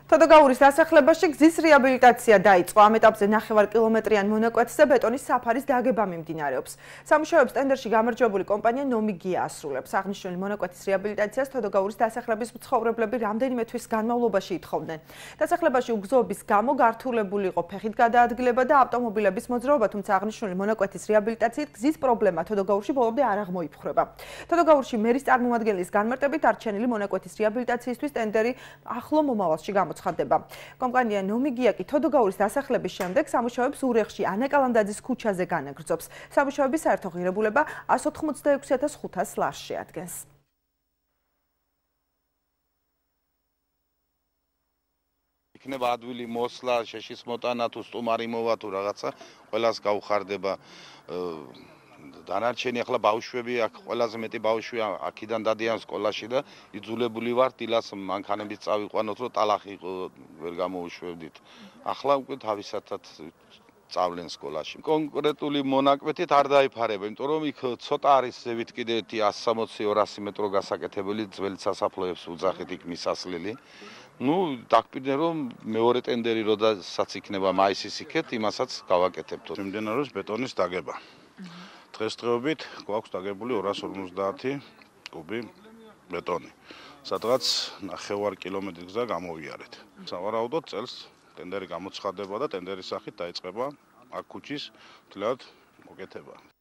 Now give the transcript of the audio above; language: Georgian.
თოდოგაურის დასახლებაში გზის რეაბილიტაცია დაიწყო. ამ ეტაპზე 9 კილომეტრიან მონაკვეთზე ბეტონის საფარის დაგება მიმდინარეობს. სამუშაოებს ტენდერში გამარჯვებული კომპანია ნომიგია ასრულებს. აღნიშნული მონაკვეთის რეაბილიტაციას თოდოგაურის დასახლების მცხოვრებლები რამდენიმე თვის განმავლობაში ითხოვდნენ. დასახლებაში უგზოობის გამო გართულებული იყო ფეხით გადაადგილება და ავტომობილების მოძრაობა, თუმცა აღნიშნული მონაკვეთის რეაბილიტაციით გზის პრობლემა თოდოგაურში ბოლომდე არ აღმოიფხვრება. თოდოგაურში მერის წარმომადგენლის განმარტებით არჩენილი მონაკვეთის რეაბილიტაციისთვის ტენდერი ახლო მომავალში გამოცხადდება. კომპანია ნომიგია კი თოდოგაურის დასახლების შემდეგ სამუშაოებს ურეხში ანა კალანდაძის ქუჩაზე განაგრძობს. სამუშაოების საერთო ღირებულება 186,500 ლარს შეადგენს. იქნება ადვილი მოსლა, შეშის მოტანა თუ სტუმარი მოვა თუ რაღაცა, ყველას გაუხარდება. დანარჩენი ახლა ბავშვები აქ ყველაზე მეტი ბავშვი აქიდან დადიან სკოლაში და იძულებული ვარ დილას მანქანებით წავიყვანოთ, რომ ტალახი ვერ გამოუშვებდით. ახლა უკვე თავისათად წავლენ სკოლაში. კონკრეტული მონაკვეთით არ დაიფარება, იმიტომ რომ იქ ცოტა არის ზევით კიდე 160-200 მეტრო გასაკეთებელი ძველი სასაფლაოებს უძახით იქ მისასვლელი. დაგპირდნენ რომ მეორე ტენდერი როდესაც იქნება მაისის იქეთ, იმასაც გავაკეთებთ. მიმდინარეობს ბეტონის დაგება. დღესდღეობით გვაქვს დაგებული 250 კუბი ბეტონი, სადღაც 9 კილომეტრი გზა გამოვიარეთ. სავარაუდოდ წელს ტენდერი გამოცხადება და ტენდერის სახით დაიწყება აქ ქუჩის მთლიანად მოკეთება.